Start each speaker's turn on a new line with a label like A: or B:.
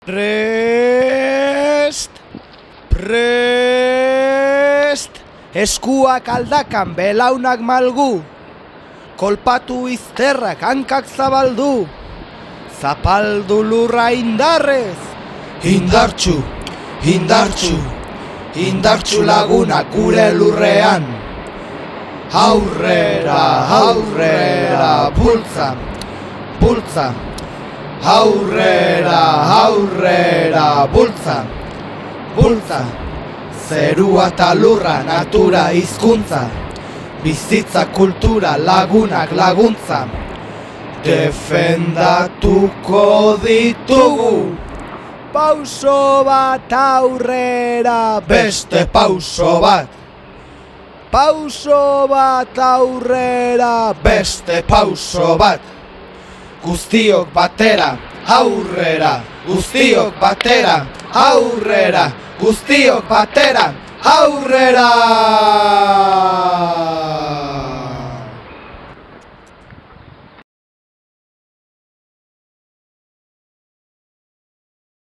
A: Prest! Eskuak aldakan belaunak malgu, kolpatu izterrak hankak zabaldu, zapaldu lurra indarrez, indartsu, indartsu lagunak gure lurrean, aurrera, bultza, aurrera, bultza, zerua eta lurra, natura hizkuntza, bizitza kultura, lagunak laguntza, defendatuko ditugu. Pauso bat aurrera, beste pauso bat. Pauso bat aurrera, beste pauso bat. Guztiok batera, aurrera, guztiok batera, aurrera, guztiok batera, aurrera!